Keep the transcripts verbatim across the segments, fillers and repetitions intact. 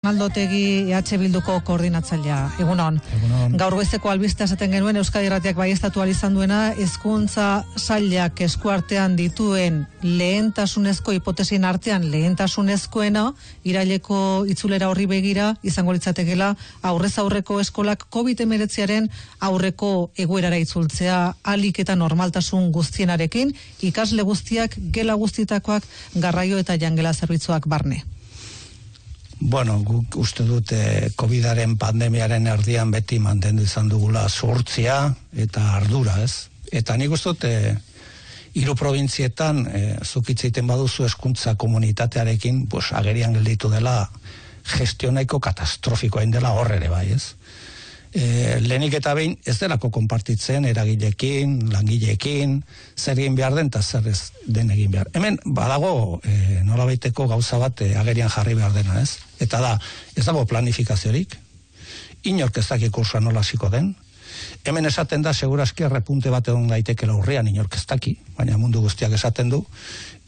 Aldotegi E H Bilduko koordinatzailea. Egunon. Egunon. Gaur goizeko albistea esaten genuen Euskadi Irratiak baieztatu ahal izan duena, hezkuntza sailak eskuartean dituen lehentasunezko hipotesien artean lehentasunezkoena iraileko itzulera horri begira izango litzatekeela aurrez aurreko eskolak covid hemeretziaren aurreko egoerara itzultzea ahalik eta normaltasun guztienarekin, ikasle guztiak, gela guztietakoak, garraio eta jangela zerbitzuak barne. Bueno, guk uste dute COVIDaren pandemiaren erdian beti mantendu izan dugula zuhurtzia eta ardura, ez? Eta nik uste dute hiru probintzietan e, zukitzeiten baduzu hezkuntza komunitatearekin, pues, agerian gelditu dela gestionaiko katastrofikoa indela hor ere bai, ez? E, lehenik eta behin ez delako konpartitzen eragilekin, langileekin, zer egin behar den eta zer ez den egin behar. Hemen badago e, nolabaiteko gauza bat e, agerian jarri behar dena, ez? Eta da, ez dago planifikaziorik, inork ez daki kursoa nola hasiko den, hemen esaten da segurazki errepunte bat egon daitekela urrean, inork ez daki, baina mundu guztiak esaten du,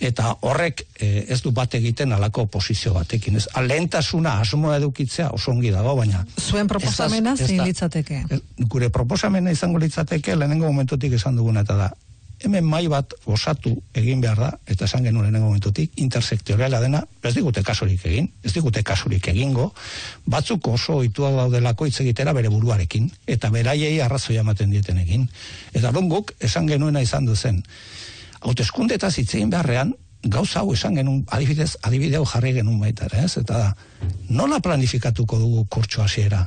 eta horrek e, ez du bat egiten alako posizio batekin. Ez, lehentasuna asmoa edukitzea oso ongi dago, baina... Zuen proposamena zein litzateke? Gure proposamena izango litzateke lehenengo momentutik esan duguna, eta da, hemen mai bat osatu egin behar da, eta esan genuen lehenengo momentutik, intersektoriala dena, ez digute kasurik egin, ez digute kasurik egingo, batzuk oso oituak daudelako hitz egitera bere buruarekin, eta beraiei arrazoia ematen dieten egin. Eta guk esan genuena izan duzen, hauteskundetaz hitz egin beharrean, gauza hau esan genuen, adibidez, adibideo jarri genuen baita, ez? Eta da, nola planifikatuko dugu kurtso hasiera?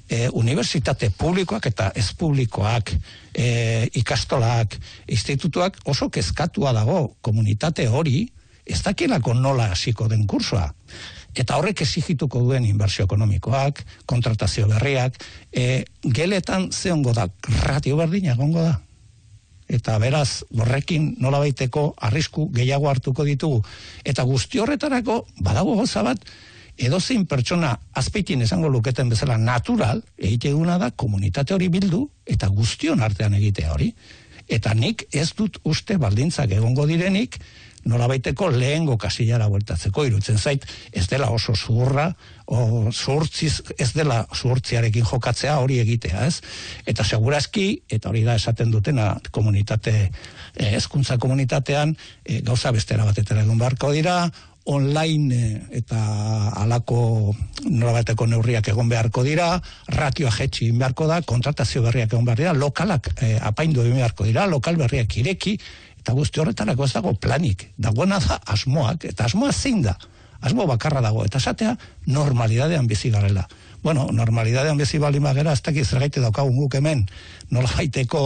E, unibertsitate publikoak eta ez publikoak, e, ikastolak, institutuak oso kezkatua dago komunitate hori, ez dakilako nola hasiko den kursoa. Eta horrek exigituko duen inbertsio ekonomikoak, kontratazio berriak, e, geletan ze ongo da, ratio berdina egongo da. Eta beraz, horrekin nolabaiteko arrisku gehiago hartuko ditugu. Eta guzti horretarako, badago goza bat, edozein pertsona azpeitin esango luketen bezala natural, egiteguna da komunitate hori bildu, eta guztion artean egitea hori. Eta nik ez dut uste baldintzak egongo direnik, nolabaiteko lehengo kasillara bueltatzeko, irutzen zait, ez dela oso zuhurra, o zuhurtziz, ez dela zuhurtziarekin jokatzea hori egitea, ez? Eta segurazki, eta hori da esaten dutena komunitate, hezkuntza komunitatean, e, gauza bestera batetara egon beharko dira, online eta alako norabateko neurriak egon beharko dira, ratioa jetxi egin beharko da, kontratazio berriak egon behar dira, lokalak eh, apaindu egin beharko dira, lokal berriak ireki, eta guzti horretarako ez dago planik, dagoena da asmoak, eta asmoa zein da, asmo bakarra dago, eta esatea normalidadean bizi garela. Bueno, normalidadean bizi baldin bagera, ez dakiz zergaite daukagun guk hemen, nola baiteko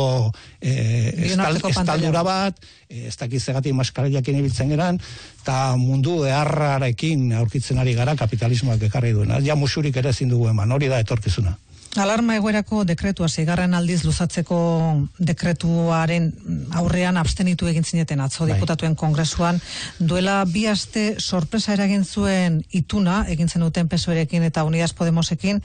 eh, estaldura bat, ez dakiz zergatik maskarillak ibiltzen geran, eta mundu eharrarekin aurkitzen ari gara kapitalismoak ekarri duena. Ja musurik ere ezin dugu eman, hori da etorkizuna. Alarma egoerako dekretua, seigarren aldiz luzatzeko dekretuaren aurrean abstenitu egin zineten atzo diputatuen kongresuan, duela bi aste sorpresa eragin zuen ituna, egin zen duten P S O E-rekin eta Unidas Podemosekin,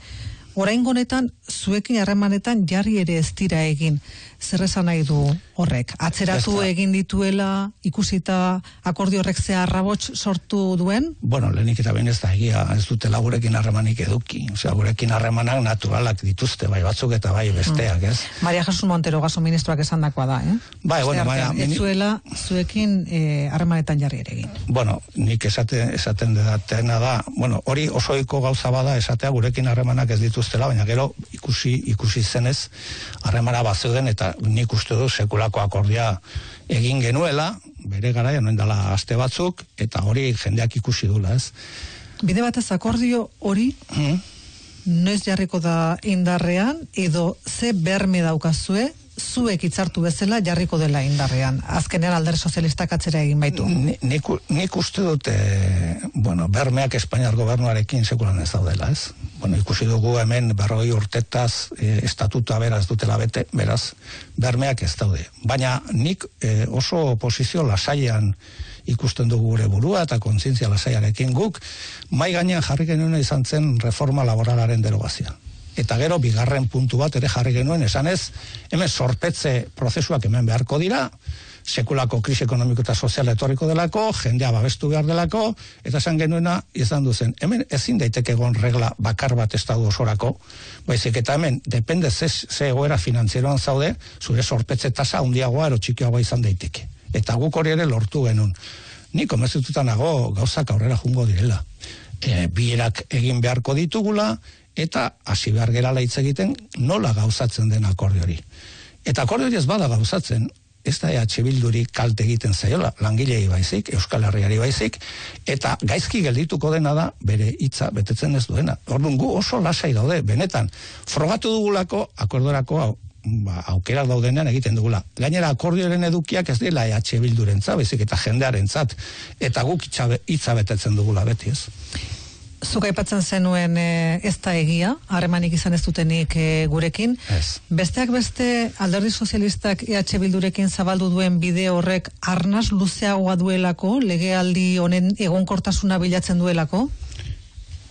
oraingo honetan zuekin harremanetan jarri ere ez dira egin. Zer esan nahi du horrek? Atzeratu egin dituela, ikusita akordio horrek ze arrabots sortu duen? Bueno, lehenik eta behin ez da egia, ez dutela gurekin harremanik eduki. Osea, gurekin harremanak naturalak dituzte, bai batzuk eta bai besteak, ez? Maria Jesus Montero gaso ministroak esandakoa da, eh? Bai, bueno, baina... Ez zuela zuekin harremanetan jarri ere egin. Bueno, nik esaten, esaten dedatena da, bueno, hori osoiko gauza bada esatea gurekin harremanak ez dituztela, baina gero ikusi, ikusi zenez harremana bazeuden eta nik uste du sekulako akordia egin genuela, bere garaian noen dela aste batzuk, eta hori jendeak ikusi dula, ez? Bide batez akordio hori, hmm? noiz jarriko da indarrean, edo ze berme daukazue, zuek hitzartu bezala jarriko dela indarrean. Azkenean Alderdi Sozialistak atzera egin baitu. Nik, nik uste dute, bueno, bermeak Espainiar gobernuarekin sekulan ez daudela, ez? Bueno, ikusi dugu hemen berrogei urtetaz e, estatuta beraz dutela bete, beraz, bermeak ez daude. Baina nik e, oso posizio lasaian ikusten dugu gure burua eta kontzientzia lasaiarekin guk, mai gainean jarri genuen izan zen reforma laboralaren derogazioa. Eta gero bigarren puntu bat ere jarri genuen esanez, hemen sorpetze prozesuak hemen beharko dira, sekulako krisi ekonomiko eta soziala etorriko delako, jendea babestu behar delako, eta esan genuena izan duzen. Hemen ezin daiteke egon regla bakar bat estatu osorako, baizik eta hemen, depende ze, ze egoera finanzieroan zaude, zure sorpetze tasa handiagoa ero txikiagoa izan daiteke. Eta guk hori ere lortu genuen. Ni konbentzituta nago gauzak aurrera jungo direla. E, bierak egin beharko ditugula, eta hasi behar gerala hitz egiten nola gauzatzen den akordio hori. Eta akordio hori ez bada gauzatzen, ez da E H Bilduri kalte egiten zaiola, langilei baizik, Euskal Herriari baizik, eta gaizki geldituko dena da bere hitza betetzen ez duena. Orduan gu oso lasai daude, benetan, frogatu dugulako akordorako hau, ba, aukera daudenean egiten dugula. Gainera akordioaren edukiak ez dela E H Bildurentzat, baizik eta jendearentzat, eta guk hitza betetzen dugula beti, ez? Zuk aipatzen zenuen e, ez da egia, harremanik izan ez dutenik e, gurekin. Ez. Besteak beste alderdi sozialistak E H Bildurekin zabaldu duen bide horrek arnaz luzeagoa duelako, legealdi honen egonkortasuna bilatzen duelako?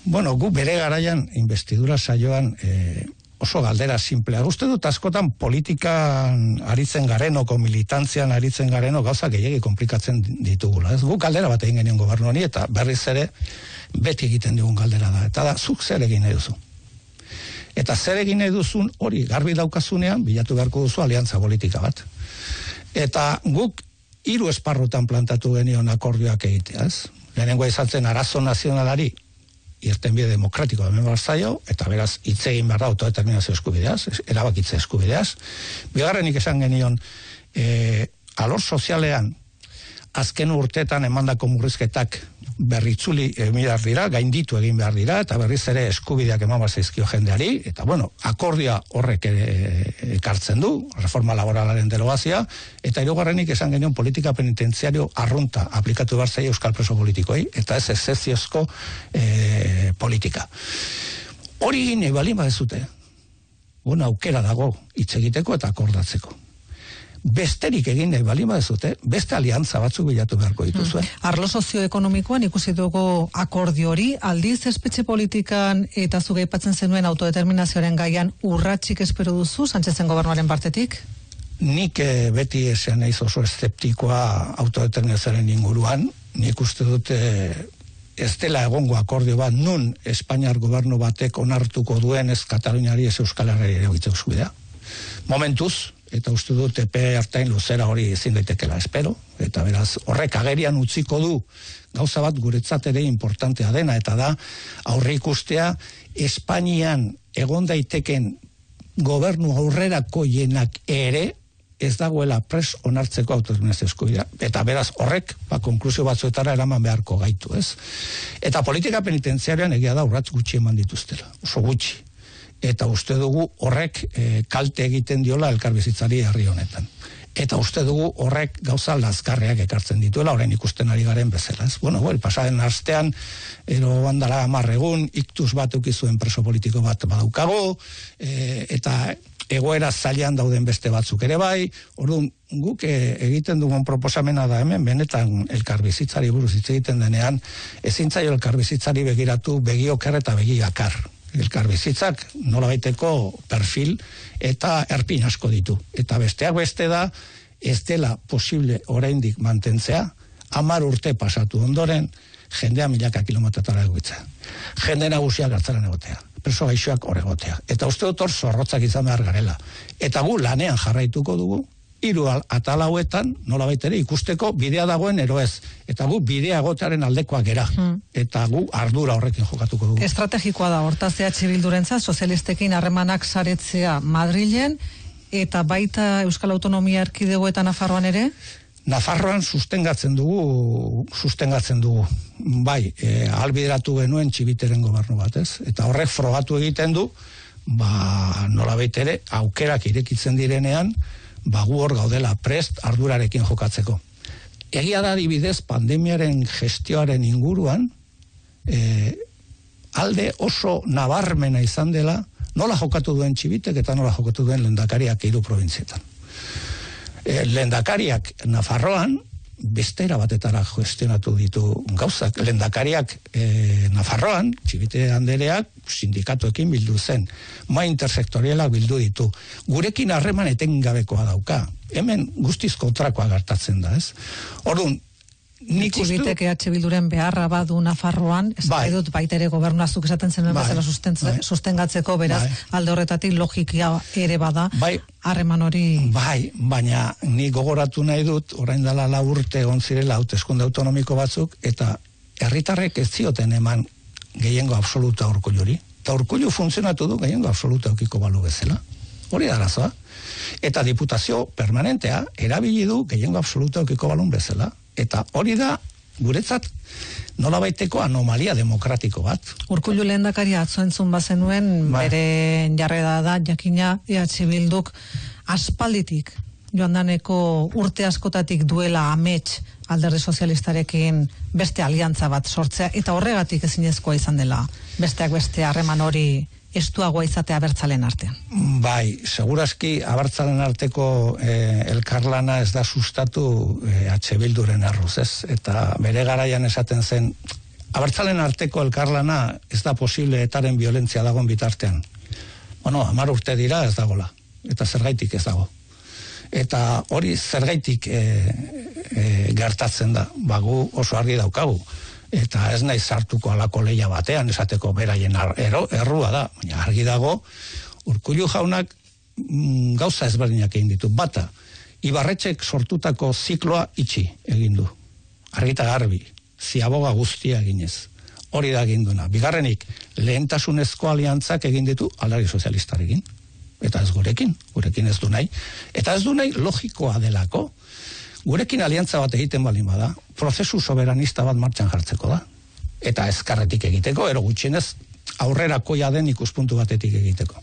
Bueno, gu bere garaian investidura saioan e, oso galdera simplea. Uste dut askotan politikan aritzen garenoko, militantzian aritzen gareno gauza gehiagi komplikatzen ditugula. Ez guk galdera bat egin genion gobernu honi eta berriz ere beti egiten dugun galdera da. Eta da, zuk zer egin nahi duzu. Eta zer egin nahi duzun hori garbi daukazunean, bilatu beharko duzu aliantza politika bat. Eta guk hiru esparrutan plantatu genion akordioak egitea, ez? Lehenengoa izan zen arazo nazionalari irtenbide demokratiko hemen barzaio, eta beraz hitz egin behar da autodeterminazio eskubideaz, erabakitze eskubideaz. Bigarrenik esan genion, e, alor sozialean, azken urteetan emandako murrizketak berritzuli emirar dira, gainditu egin behar dira, eta berriz ere eskubideak eman zaizkio jendeari, eta bueno, akordioa horrek ere ekartzen du, reforma laboralaren derogazioa, eta hirugarrenik esan genion politika penitentziario arrunta aplikatu behar zaio euskal preso politikoi, eta ez ezeziozko e, politika. Hori gine balin badezute, una aukera dago hitz egiteko eta akordatzeko. Besterik egin nahi balin badezute, beste aliantza batzuk bilatu beharko dituzue. Hmm. Arlo sozioekonomikoan ikusi dugu akordio hori, aldiz espetxe politikan eta zuge aipatzen zenuen autodeterminazioaren gaian urratsik espero duzu, Sánchezen gobernuaren partetik? Nik eh, beti esan naiz oso eszeptikoa autodeterminazioaren inguruan, nik uste dute ez dela egongo akordio bat nun Espainiar gobernu batek onartuko duen ez Kataluniari ez Euskal Herriari ere eskubidea. Momentuz, eta uste dut epe hartain luzera hori ezin daitekela espero, eta beraz horrek agerian utziko du gauza bat guretzat ere importantea dena, eta da aurre ikustea Espainian egon daiteken gobernu aurrerakoienak ere ez dagoela pres onartzeko autodeterminazio eskubidea. Eta beraz horrek ba, konklusio batzuetara eraman beharko gaitu, ez? Eta politika penitentziarian egia da urratz gutxi eman dituztela, oso gutxi. Eta uste dugu horrek e, kalte egiten diola elkarbizitzari herri honetan. Eta uste dugu horrek gauza lazgarriak ekartzen dituela, orain ikusten ari garen bezala. Ez? Bueno, well, pasaren astean, ero bandara amarregun, iktus bat eukizuen preso politiko bat badaukago, e, eta egoera zailan dauden beste batzuk ere bai, orduan guk e, egiten dugun proposamena da hemen, benetan elkarbizitzari buruz hitz egiten denean, ezin zaio elkarbizitzari begiratu begioker eta begikar. Elkarbizitzak nola baiteko perfil eta erpin asko ditu. Eta besteak beste da, ez dela posible oraindik mantentzea, hamar urte pasatu ondoren, jendea milaka kilometretara egoitzea. Jende nagusiak hartzaran egotea, preso gaixoak hor egotea. Eta uste dut hor zorrotzak izan behar garela. Eta gu lanean jarraituko dugu, hiru atal hauetan, nola baitere, ikusteko bidea dagoen ero ez. Eta gu bidea egotearen aldekoak gera. Hmm. Eta gu ardura horrekin jokatuko dugu. Estrategikoa da, hortaz E H Bildurentzat, sozialistekin harremanak saretzea Madrilen, eta baita Euskal Autonomia Erkidegoetan Nafarroan ere? Nafarroan sustengatzen dugu, sustengatzen dugu. Bai, e, albideratu genuen Txibiteren gobernu bat, ez? Eta horrek frogatu egiten du, ba, nola baitere, aukerak irekitzen direnean, ba gu hor gaudela prest ardurarekin jokatzeko. Egia da adibidez pandemiaren gestioaren inguruan e, alde oso nabarmena izan dela nola jokatu duen Txibitek eta nola jokatu duen lehendakariak hiru probintzietan. E, lehendakariak Nafarroan bestera batetara gestionatu ditu gauzak. Lehendakariak e, Nafarroan, Txibite Andereak, sindikatuekin bildu zen, mai intersektorialak bildu ditu. Gurekin harreman etengabekoa dauka. Hemen guztiz kontrakoa gertatzen da, ez? Orduan, nik uste Txibitek E H Bilduren beharra badu Nafarroan, ez bai. dut baitere gobernazuk esaten zen bai. bezala bai. sustengatzeko, beraz, bai. alde horretatik logikia ere bada, bai. harreman hori... Bai, baina ni gogoratu nahi dut, orain dela lau urte egon zirela hauteskunde autonomiko batzuk, eta herritarrek ez zioten eman gehiengo absoluta Urkulluri. Eta Urkullu funtzionatu du gehiengo absoluta eukiko balu bezala. Hori da arazoa. Eta diputazio permanentea erabili du gehiengo absoluta eukiko balun bezala. Eta hori da, guretzat, nolabaiteko anomalia demokratiko bat. Urkullu lehendakaria atzo entzun bazenuen, Ba. bere jarrera da, jakina E H Bilduk aspalditik, joan daneko urte askotatik duela amets alderdi sozialistarekin beste aliantza bat sortzea, eta horregatik ezinezkoa izan dela, besteak beste harreman hori estuagoa izatea abertzalen artean. Bai, segurazki abertzalen arteko eh, elkarlana ez da sustatu eh, H Bilduren arruz, ez? Eta bere garaian esaten zen, abertzalen arteko elkarlana ez da posible etaren violentzia dagoen bitartean. Bueno, hamar urte dira ez dagola, eta zergaitik ez dago. Eta hori zergaitik e, e, gertatzen da, bagu oso argi daukagu. Eta ez nahi sartuko alako leia batean, esateko beraien ero, errua da, baina argi dago, Urkullu jaunak mm, gauza ezberdinak egin ditu. Bata, Ibarretxek sortutako zikloa itxi egin du. Argita garbi, ziaboga guztia eginez. Hori da egin duena. Bigarrenik, lehentasunezko aliantzak egin ditu alderdi sozialistarekin. Eta ez gurekin, gurekin ez du nahi. Eta ez du nahi logikoa delako. Gurekin aliantza bat egiten balin bada, prozesu soberanista bat martxan jartzeko da. Eta ezkarretik egiteko, ero gutxienez aurrerakoia den ikuspuntu batetik egiteko.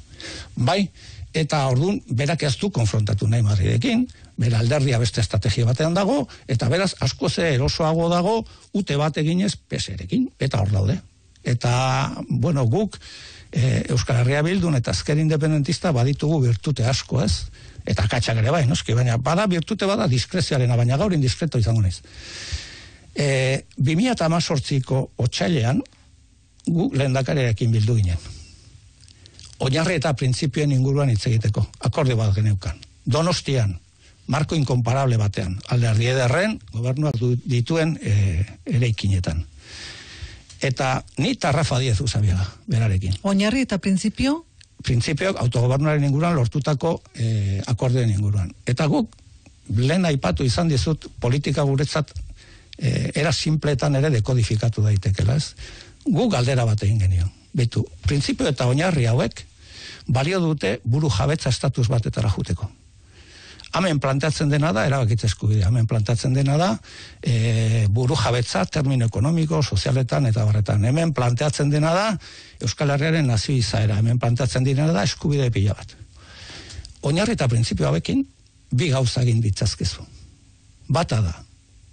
Bai, eta orduan berak ez du konfrontatu nahi Madridekin, bera alderdia beste estrategia batean dago, eta beraz asko ze erosoago dago ute bat eginez peserekin, eta hor daude. Eta, bueno, guk e, Euskal Herria Bildun eta Ezker Independentista baditugu birtute asko, ez? Eta katxak ere bai, noski, baina bada birtute bada diskrezioarena, baina gaur indiskreto izango naiz. E, bi mila hemezortziko otsailean gu lehendakariarekin bildu ginen. Oinarri eta printzipioen inguruan hitz egiteko, akordio bat geneukan. Donostian, marko inkomparable batean, alderdi ederren, gobernuak dituen e, eraikinetan. Eta ni eta Rafa Díez Usabiaga, berarekin. Oinarri eta printzipio? Printzipioak autogobernuaren inguruan lortutako e, akordioen inguruan. Eta guk, lehen aipatu izan dizut, politika guretzat e, era simpletan ere dekodifikatu daitekela, ez? Guk galdera bat egin genio. Beitu, printzipio eta oinarri hauek balio dute buru jabetza estatus batetara juteko. Hemen planteatzen dena da, erabakitze eskubidea, hemen planteatzen dena da e, buru jabetza termino ekonomiko, sozialetan eta barretan. Hemen planteatzen dena da Euskal Herriaren nazio izaera, hemen planteatzen dena da eskubide pila bat. Oinarri eta printzipio hauekin bi gauza egin ditzazkezu. Bata da,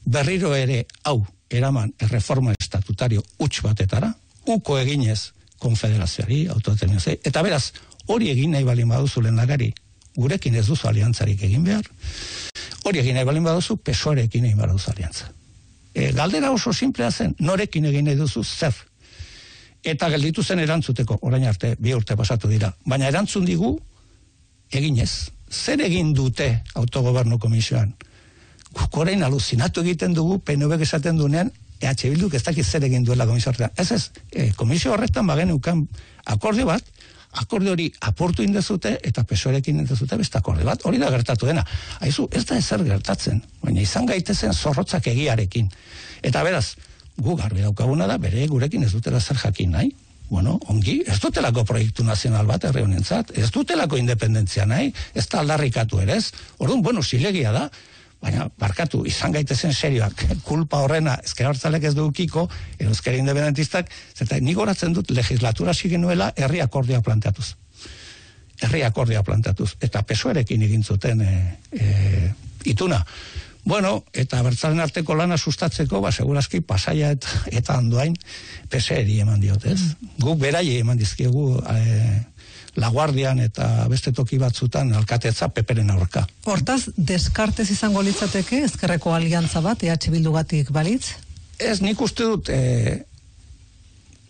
berriro ere hau eraman erreforma estatutario huts batetara, uko eginez konfederazioari, autodeterminazioari, eta beraz, hori egin nahi balin baduzu lehendakari, gurekin ez duzu aliantzarik egin behar, hori egin nahi balin baduzu, P S O E rekin egin behar duzu aliantza. E, galdera oso simplea zen, norekin egin nahi duzu zer. Eta gelditu zen erantzuteko, orain arte, bi urte pasatu dira, baina erantzun digu, eginez. Zer egin dute autogobernu komisioan? Guk orain aluzinatu egiten dugu, P N V esaten duenean, E H Bilduk ez dakit zer egin duela komisio horretan. Ez ez, e, komisio horretan bagen ukan akordio bat, akordio hori aportu indezute eta P S O E rekin indezute beste akordio bat, hori da gertatu dena. Haizu, ez da ezer gertatzen, baina izan gaitezen zorrotzak egiarekin. Eta beraz, gu garbi daukaguna da, bere gurekin ez dutela zer jakin nahi. Bueno, ongi, ez dutelako proiektu nazional bat herri honentzat, ez dutelako independentzia nahi, ez da aldarrikatu ere ez. Orduan, bueno, zilegia da, baina barkatu, izan gaitezen serioak, kulpa horrena Ezker Abertzaleak ez dukiko, edo Ezker Independentistak, zeta nik horatzen dut legislatura zigenuela herri akordioa planteatuz. Herri akordioa planteatuz. Eta P S O E rekin egin zuten e, e, ituna. Bueno, eta Abertzalen arteko lana sustatzeko, ba, segurazki Pasaia eta, eta Andoain P S E ri eman diotez. Guk berai eman dizkiegu e, Laguardian eta beste toki batzutan alkatetza peperen aurka. Hortaz, deskartez izango litzateke ezkerreko aliantza bat, E H Bildugatik balitz? Ez, nik uste dut e,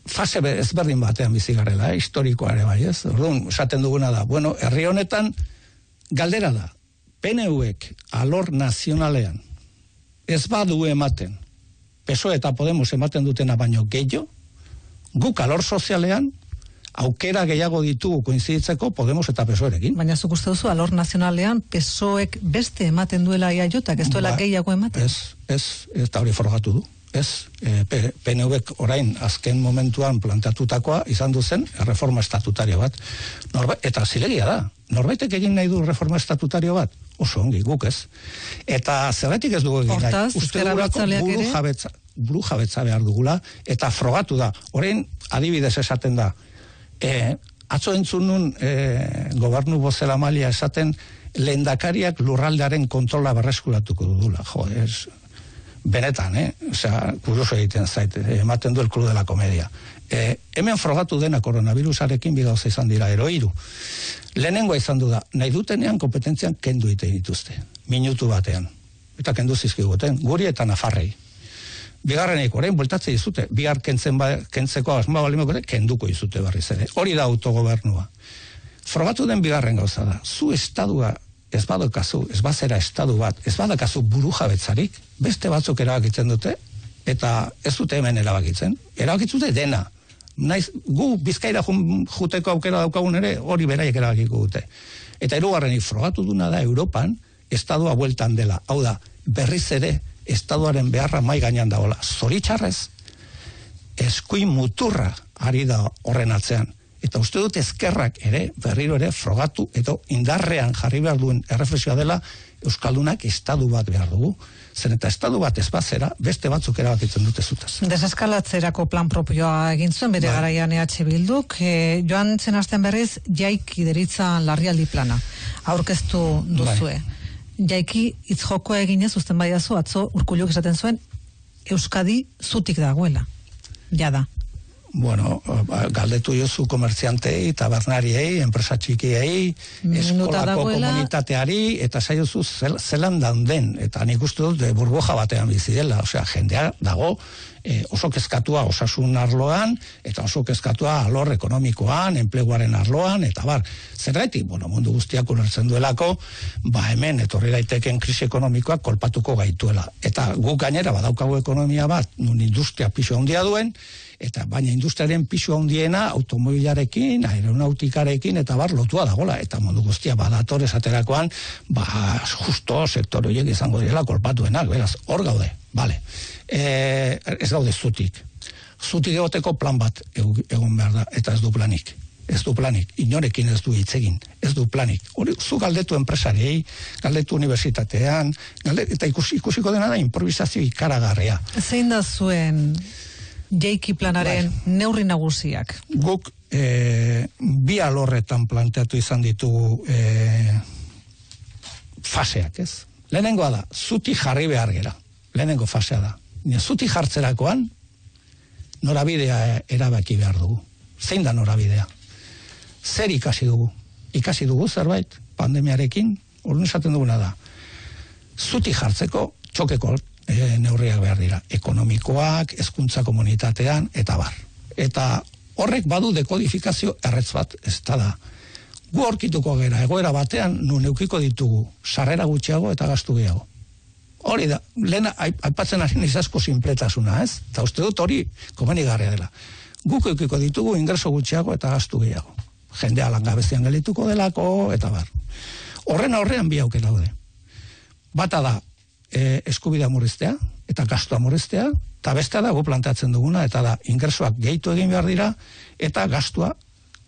fase ezberdin batean bizi garela, eh, historikoa ere bai, ez? Orduan, esaten duguna da, bueno, herri honetan galdera da, P N Uek alor nazionalean ez badu ematen, P S O E eta Podemos ematen dutena baino gehiago, guk alor sozialean aukera gehiago ditugu koinziditzeko Podemos eta P S O Erekin. Baina zuk uste duzu, alor nazionalean P S O Ek beste ematen duela E A Jotak, ez duela ba, gehiago ematen? Ez, ez, eta hori forgatu du. Ez, e, P N Uek orain azken momentuan planteatutakoa izan duzen reforma estatutario bat. Norba, eta zilegia da, norbaitek egin nahi du reforma estatutario bat? Oso ongi, guk ez. Eta zergatik ez dugu egin nahi? Uste dugulako buru jabetza, buru jabetza behar dugula, eta frogatu da. Orain adibidez esaten da, e, atzo entzun nun e, gobernu bozela malia esaten lehendakariak lurraldearen kontrola berreskuratuko dudula. Jo, ez... Benetan, eh? Osea, kurioso egiten zait, ematen du el Club de la Comedia. Eh, hemen frogatu dena koronavirusarekin bi gauza izan dira, ero hiru. Lehenengoa izan du da, nahi dutenean kompetentzian kendu egiten dituzte, minutu batean. Eta kendu zizkiguten, guri eta Nafarrei. Bigarrenik, orain bueltatze dizute, bihar kentzen ba, kentzeko asma balimoko ere, kenduko dizute berriz ere. Hori da autogobernua. Frogatu den bigarren gauza da, zu estadua ez badakazu, ez bazera estadu bat, ez badakazu buru jabetzarik, beste batzuk erabakitzen dute, eta ez dute hemen erabakitzen. Erabakitzute dena. Naiz, gu Bizkaira juteko aukera daukagun ere, hori beraiek erabakiko dute. Eta hirugarrenik frogatu duna da Europan, estadua bueltan dela. Hau da, berriz ere, estaduaren beharra mai gainean dagoela. Zoritxarrez, eskuin muturra ari da horren atzean. Eta uste dut ezkerrak ere, berriro ere, frogatu, eta indarrean jarri behar duen erreflexioa dela, Euskaldunak estadu bat behar dugu. Zen eta estadu bat ez bazera, beste batzuk erabakitzen dute zutaz. Deseskalatzerako plan propioa egin zuen, bere ba. Garaian E H Bilduk, e, joan zen astean berriz, jaiki deritza larrialdi plana, aurkeztu duzue. Ba. Jaiki itzjokoa eginez, uzten baiazu, atzo Urkulluk esaten zuen, Euskadi zutik dagoela. Jada. Bueno, galdetu jozu komertziantei, tabernariei, enpresa txikiei, eskolako komunitateari, eta saiozu zelan dauden, eta nik uste dut burbuja batean bizi dela, osea, jendea dago e, oso kezkatua osasun arloan, eta oso kezkatua alor ekonomikoan, enpleguaren arloan, eta bar, zergatik, bueno, mundu guztiak ulertzen duelako, ba hemen etorri daiteken krisi ekonomikoak kolpatuko gaituela, eta guk gainera badaukagu ekonomia bat, nun industria pisu handia duen, eta baina industriaren pisu handiena automobilarekin, aeronautikarekin eta bar lotua dagola, eta mundu guztia badator esaterakoan, ba justo sektore horiek izango direla kolpatuenak, beraz, hor gaude, bale. E, ez gaude zutik. Zutik egoteko plan bat egon behar da, eta ez du planik. Ez du planik, inorekin ez du hitz egin, ez du planik. Hori, zu galdetu enpresariei, galdetu unibertsitatean, galdetu, eta ikus, ikusiko dena da improvisazio ikaragarria. Zein da zuen jaiki planaren bai. Neurri nagusiak? Guk e, bi alorretan planteatu izan ditugu e, faseak, ez? Lehenengoa da, zuti jarri behar gera. Lehenengo fasea da. Zuti jartzerakoan, norabidea erabaki behar dugu. Zein da norabidea? Zer ikasi dugu? Ikasi dugu zerbait, pandemiarekin, orduan esaten duguna da. Zuti jartzeko, txokeko E, neurriak behar dira, ekonomikoak, hezkuntza komunitatean, eta bar. Eta horrek badu dekodifikazio erretz bat, ez da. Gu aurkituko gera, egoera batean, nun eukiko ditugu, sarrera gutxiago eta gastu gehiago. Hori da, lehen aipatzen ari nizazko sinpletasuna, ez? Eta uste dut hori komenigarria dela. Guk eukiko ditugu ingreso gutxiago eta gastu gehiago. Jendea langabezian gelituko delako, eta bar. Horren aurrean bi aukera daude. Bata da, E, eskubidea murriztea, eta gastua murriztea, eta bestea dago planteatzen duguna, eta da, ingresoak gehitu egin behar dira, eta gastua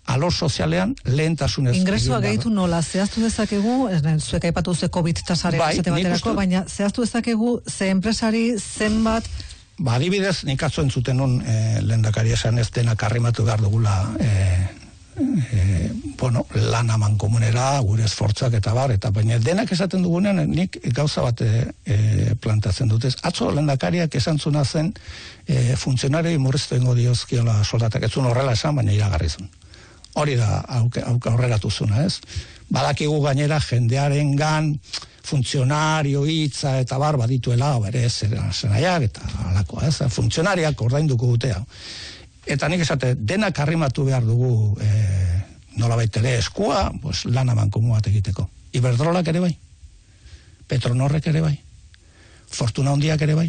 alor sozialean lehentasunez. Ingresoa gehitu nola, zehaztu dezakegu, zuek aipatu ze COVID tasaren bai, esate baterako, baina zehaztu dezakegu ze enpresari zenbat. Ba, adibidez, nik atzo entzuten nun e, lehendakari esan ez denak arrimatu behar dugula e, E, bueno, lan aman komunera, gure esfortzak eta bar, eta baina denak esaten dugunean nik gauza bat e, e, plantatzen dutez. Atzo lehendakariak esan zuna zen e, funtzionarioi murriztu ingo diozkiola soldatak, ez zuen horrela esan, baina iragarri zuen. Hori da aurreratu zuna, ez? Badakigu gainera jendearen gan funtzionario hitza eta bar badituela, bere zenaiak eta alakoa, ez? Funtzionariak ordainduko dutea. Eta nik esate, denak arrimatu behar dugu e, nolabait ere eskua, pues, lana mankomu bat egiteko. Iberdrolak ere bai, Petronorrek ere bai, Fortuna handiak ere bai,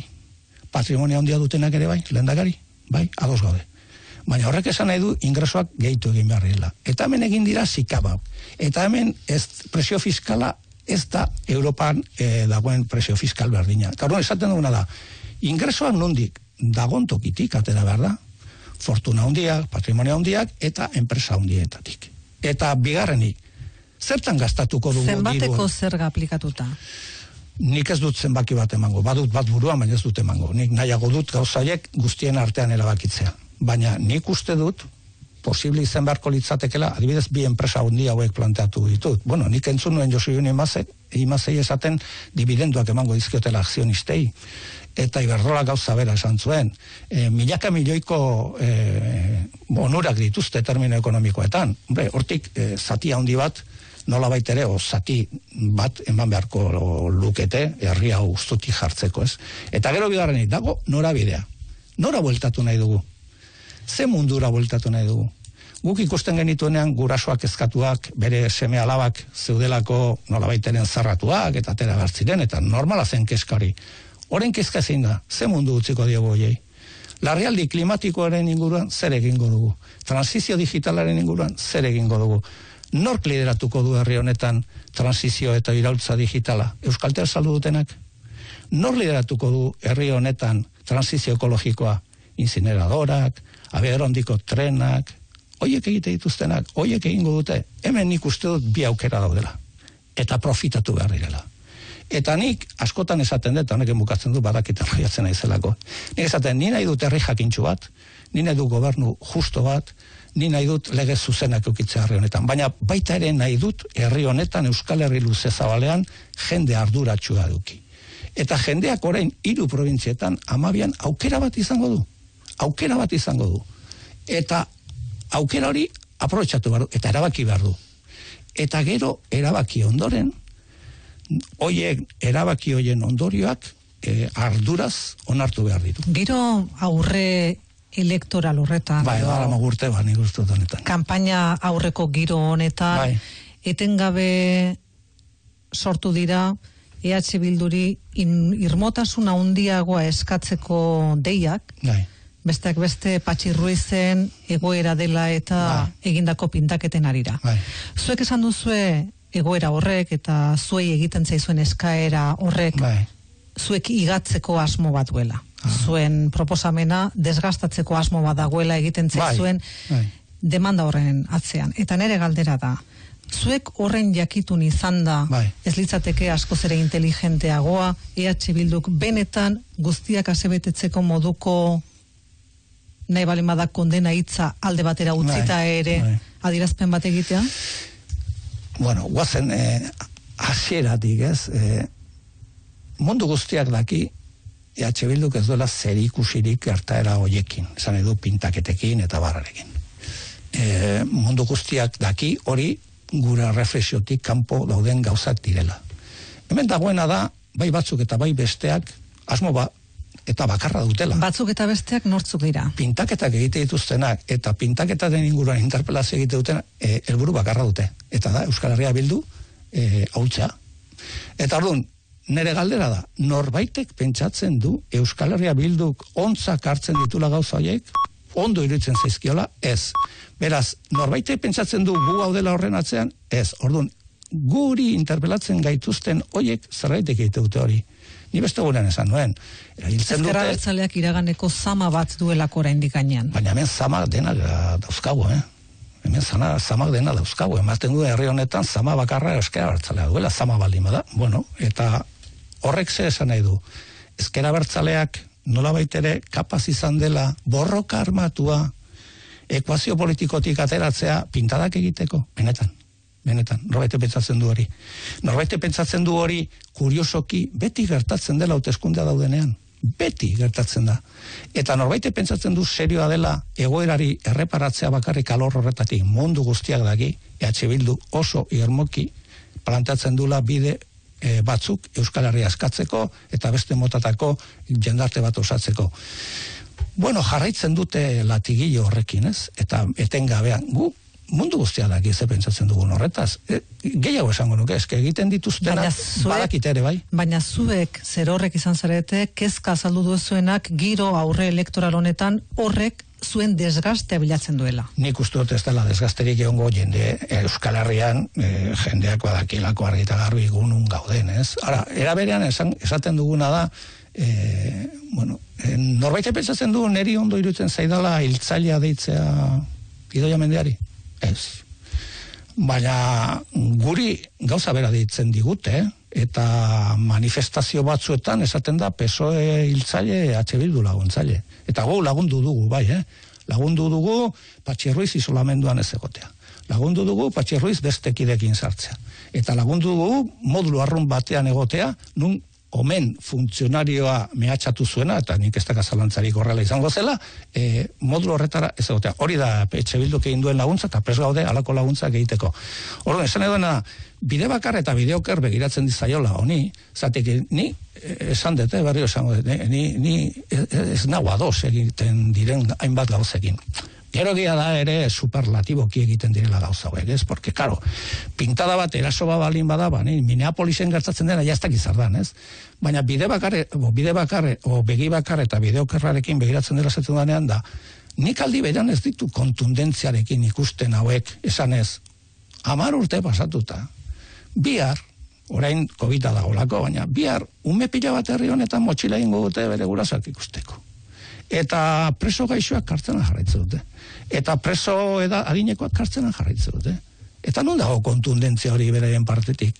patrimonio handia dutenak ere bai, lehendakari, bai, ados gaude. Baina horrek esan nahi du ingresoak gehitu egin behar dela. Eta hemen egin dira zikabau. Eta hemen ez, presio fiskala ez da Europan e, dagoen presio fiskal berdina. Eta horren esaten duguna da, ingresoak nondik dagon tokitik, atera behar da, Fortuna handiak, patrimonio handiak, eta enpresa handietatik. Eta bigarrenik, zertan gastatuko dugu dirua? Zenbateko zerga aplikatuta? Nik ez dut zenbaki bat emango, badut bat buruan, baina ez dut emango. Nik nahiago dut gauzaiek guztien artean erabakitzea. Baina nik uste dut, posible izan beharko litzatekela, adibidez bi enpresa handi hauek planteatu ditut. Bueno, nik entzun nuen Josu Juni Imazei esaten dividenduak emango dizkiotela akzionistei. Eta Iberdrola gauza bera esan zuen. E, milaka milioiko e, onurak dituzte termino ekonomikoetan. Hombre, hortik e, zati handi bat, nola baitere, o zati bat eman beharko lukete, herri hau ustutik jartzeko, ez? Eta gero bigarrenik, dago norabidea. Nora bueltatu nahi dugu? Ze mundura bueltatu nahi dugu? Guk ikusten genituenean gurasoak eskatuak, bere seme alabak zeudelako nola baiteren zarratuak, eta atera bertziren, eta normala zen keskari. Horen kezka zein da, ze mundu utziko diogu hoiei. Larrialdi klimatikoaren inguruan zer egingo dugu. Transizio digitalaren inguruan zer egingo dugu. Nork lideratuko du herri honetan transizio eta iraultza digitala? Euskaltel saldu dutenak? Nor lideratuko du herri honetan transizio ekologikoa? Incineradorak, abiador-handiko trenak, hoiek egite dituztenak, hoiek egingo dute. Hemen nik uste dut bi aukera daudela. Eta profitatu behar direla. Eta nik askotan esaten dut, honekin bukatzen du, badakiten roiatzen naizelako. Nik esaten, ni nahi dut herri jakintxu bat, ni nahi dut gobernu justo bat, ni nahi dut lege zuzenak eukitzea herri honetan. Baina baita ere nahi dut herri honetan, Euskal Herri luze zabalean, jende arduratxua duki. Eta jendeak orain hiru probintzietan amabian aukera bat izango du. Aukera bat izango du. Eta aukera hori aprobetxatu behar du, eta erabaki behar du. Eta gero erabaki ondoren, hoiek erabaki hoien ondorioak e, arduraz onartu behar ditu. Giro aurre elektoral horretan. Bai, gara magurte, ba, nik uste dut honetan. Kampaina aurreko giro honetan, bai. Etengabe sortu dira E H Bilduri in, irmotasun handiagoa eskatzeko deiak, bai. Besteak beste Patxi Ruizen egoera dela eta bai. Egindako pintaketen arira. Bai. Zuek esan duzue egoera horrek eta zuei egiten zaizuen eskaera horrek bai. Zuek igatzeko asmo bat duela. Ah. Zuen proposamena desgastatzeko asmo bat dagoela egiten zaizuen bai. Bai. Demanda horren atzean. Eta nere galdera da, zuek horren jakitun izan da bai. Ez litzateke askoz ere inteligenteagoa E H Bilduk benetan guztiak asebetetzeko moduko nahi balen badak kondena hitza alde batera utzita bai. Ere bai. Adierazpen bat egitea? Bueno, guazen eh, hasieratik, ez? Eh, mundu guztiak daki E H Bilduk ez duela zer ikusirik gertaera hoiekin, esan edu pintaketekin eta barrarekin. Eh, mundu guztiak daki hori gure reflexiotik kanpo dauden gauzak direla. Hemen dagoena da, bai batzuk eta bai besteak, asmo ba, eta bakarra dutela. Batzuk eta besteak nortzuk dira? Pintaketak egite dituztenak eta pintaketaren inguruan interpelazio egite dutenak e, helburu bakarra dute. Eta da, Euskal Herria Bildu e, ahultzea. Eta orduan, nere galdera da, norbaitek pentsatzen du Euskal Herria Bilduk ontzak hartzen ditula gauza horiek, ondo iruditzen zaizkiola, ez. Beraz, norbaitek pentsatzen du gu hau dela horren atzean, ez. Orduan, guri interpelatzen gaituzten horiek zerbaitek egite dute hori. Ni beste gurean esan nuen. Ezkerra Abertzaleak iraganeko zama bat duelako oraindik gainean. Baina hemen zama dena dauzkagu, eh? Hemen zana, zama dena dauzkagu. Ematen du herri honetan zama bakarra Ezkerra Abertzalea duela, zama baldin bada. Bueno, eta horrek ze esan nahi du. Ezkerra Abertzaleak nolabait ere kapaz izan dela borroka armatua ekuazio politikotik ateratzea pintadak egiteko, benetan. Benetan, norbaite pentsatzen du hori. Norbaite pentsatzen du hori kuriosoki beti gertatzen dela hauteskundea daudenean. Beti gertatzen da. Eta norbaite pentsatzen du serioa dela egoerari erreparatzea bakarrik alor horretatik mundu guztiak daki, E H Bildu oso irmoki plantatzen dula bide e, batzuk Euskal Herria askatzeko eta beste motatako jendarte bat osatzeko. Bueno, jarraitzen dute latigillo horrekin, ez? Eta etengabean, gu mundu guztia daki ze pentsatzen dugun horretaz. E, gehiago esango nuke, eske egiten dituztenak badakite ere, bai. Baina zuek zer horrek izan zarete, kezka azaldu duzuenak giro aurre elektoral honetan horrek zuen desgastea bilatzen duela. Nik uste dut ez dela desgasterik egongo jende Euskal Herrian e, jendeak badakilako argi eta garbi gunun gauden, ez? Ara, era berean esan, esaten duguna da, e, bueno, e, norbait pentsatzen du neri ondo irutzen zaidala hiltzailea deitzea Idoia Mendiari? Ez. Baina guri gauza bera deitzen digute, eta manifestazio batzuetan esaten da P S O E hiltzaile, H Bildu laguntzaile. Eta gu lagundu dugu, bai, eh? Lagundu dugu Patxi Ruiz isolamenduan ez egotea. Lagundu dugu Patxi Ruiz beste kidekin sartzea. Eta lagundu dugu modulo arrun batean egotea, nun omen funtzionarioa mehatxatu zuena, eta nik ez daka zalantzarik horrela izango zela, e, modulo horretara ez egotea. Hori da Etxe Bilduk egin duen laguntza, eta prest gaude alako laguntzak egiteko. Orduan, esan eduna, bide bakar eta bide oker begiratzen dizaiola, honi, zatik, ni esan dute, berrio esango dut, ni, ni ez nago ados egiten diren hainbat gauzekin. Gero egia da ere superlatiboki egiten direla gauza hauek, ez? Porque, karo, pintada bat, eraso bat balin bada, ba, ni, Minneapolisen gertatzen dena jaztak izardan, ez? Baina bide bakarre, o bide bakarre, o begi bakarre eta bide okerrarekin begiratzen dela zetu danean da, nik aldi beran ez ditu kontundentziarekin ikusten hauek, esan ez, hamar urte pasatuta, bihar, orain kobita dagolako, baina bihar, ume pila bat herri honetan motxila ingo dute bere gurasoak ikusteko. Eta preso gaixoak kartzenan jarraitzen dute. Eta preso eda adinekoak kartzenan jarraitzen dute. Eta non dago kontundentzia hori beraien partetik?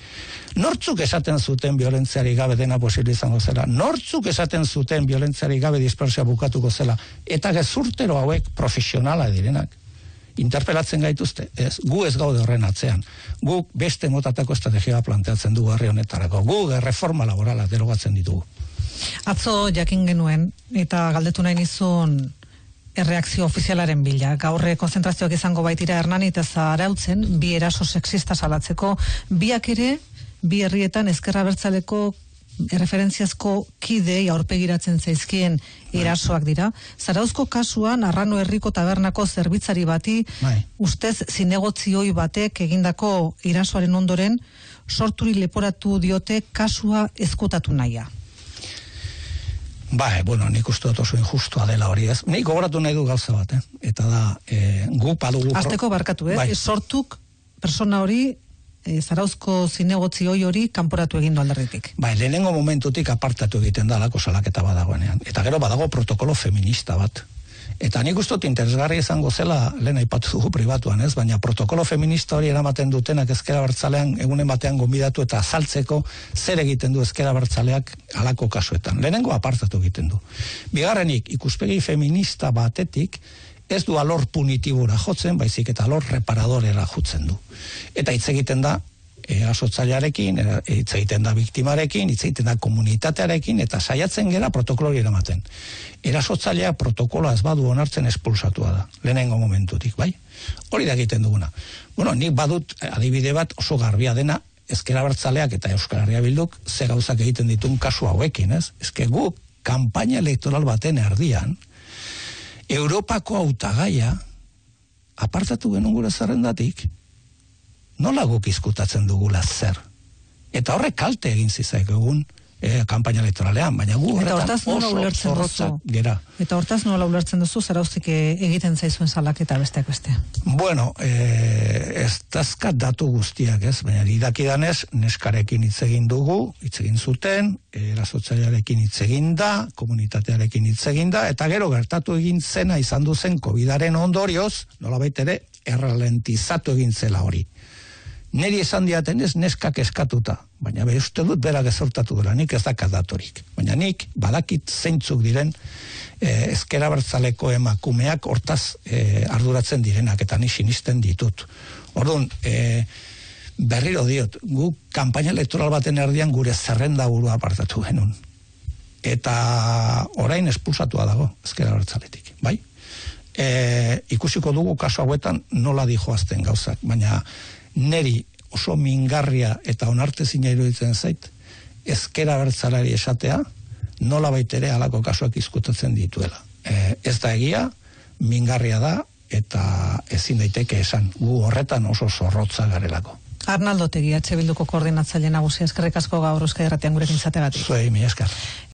Nortzuk esaten zuten violentziari gabe dena posible izango zela? Nortzuk esaten zuten violentziari gabe dispersia bukatuko zela? Eta gezurtero hauek profesionala direnak. Interpelatzen gaituzte, ez, gu ez gaude horren atzean. Guk beste motatako estrategia planteatzen dugu herri honetarako. Gu reforma laborala derogatzen ditugu. Atzo jakin genuen, eta galdetu nahi nizun erreakzio ofizialaren bila. Gaurre konzentrazioak izango baitira Hernani eta Zarautzen, bi eraso sexista salatzeko, biak ere, bi herrietan ezkerra abertzaleko erreferentziazko kidei aurpegiratzen zaizkien erasoak dira. Zarauzko kasuan, Arrano herriko tabernako zerbitzari bati, Bai. ustez zinegotzioi batek egindako erasoaren ondoren, sorturi leporatu diote kasua ezkutatu nahia. Ba, bueno, nik uste dut oso injustua dela hori, ez? Nik gogoratu nahi du gauza bat, eh? Eta da, e, gu padugu... Azteko barkatu, eh? Bai. Sortuk persona hori, e, Zarauzko zinegotzi hoi hori kanporatu egin du alderritik. Bai, lehenengo momentutik apartatu egiten da alako salaketa badagoenean. Eta gero badago protokolo feminista bat. Eta nik uste dut interesgarri izango zela, lehen aipatu dugu pribatuan, ez? Baina protokolo feminista hori eramaten dutenak ezkera bertzalean egunen batean gonbidatu eta azaltzeko zer egiten du ezkera bertzaleak halako kasuetan. Lehenengo apartatu egiten du. Bigarrenik, ikuspegi feminista batetik ez du alor punitibura jotzen, baizik eta alor reparadorera jotzen du. Eta hitz egiten da erasotzailearekin, hitz egiten da biktimarekin, hitz egiten da komunitatearekin, eta saiatzen gera protokolori eramaten. Erasotzailea protokoloa ez badu onartzen espulsatua da, lehenengo momentutik, bai? Hori da egiten duguna. Bueno, nik badut adibide bat oso garbia dena, ezker abertzaleak eta Euskal Herria Bilduk ze gauzak egiten ditun kasu hauekin, ez? Ezke guk, kanpaina elektoral baten erdian, Europako hautagaia apartatu genuen gure zerrendatik, nola guk izkutatzen dugula zer. Eta horrek kalte egin zizaik egun e, kanpaina elektoralean, baina gu horretan oso zorrotzak gera. Eta hortaz nola ulertzen duzu, Zarauztik egiten zaizuen salaketa besteak beste? Bueno, e, ez dazkat datu guztiak, ez? Baina idakidanez, neskarekin hitz egin dugu, hitz egin zuten, erasotzailearekin hitz egin da, komunitatearekin hitz egin da, eta gero gertatu egin zena izan duzen kovidaren ondorioz, nolabait ere, erralentizatu egin zela hori. Neri esan diaten ez neskak eskatuta, baina be uste dut berak ezortatu dela, nik ez dakat datorik. Baina nik badakit zeintzuk diren eh, ezker abertzaleko emakumeak hortaz eh, arduratzen direnak, eta ni sinisten ditut. Orduan, eh, berriro diot, gu kanpaina elektoral baten erdian gure zerrenda burua apartatu genuen. eta orain espulsatua dago ezker abertzaletik, bai? E, ikusiko dugu kasu hauetan nola dijoazten gauzak, baina neri oso mingarria eta onartezina iruditzen zait, ezker abertzalari esatea, nola baitere halako kasuak izkutatzen dituela. E, ez da egia, mingarria da, eta ezin daiteke esan, gu horretan oso zorrotza garelako. Arnaldo Otegi, H Bilduko koordinatzaile nagusia, eskerrik asko gaur Euskadi Irratian gurekin izateagatik. Zuei, mi esker.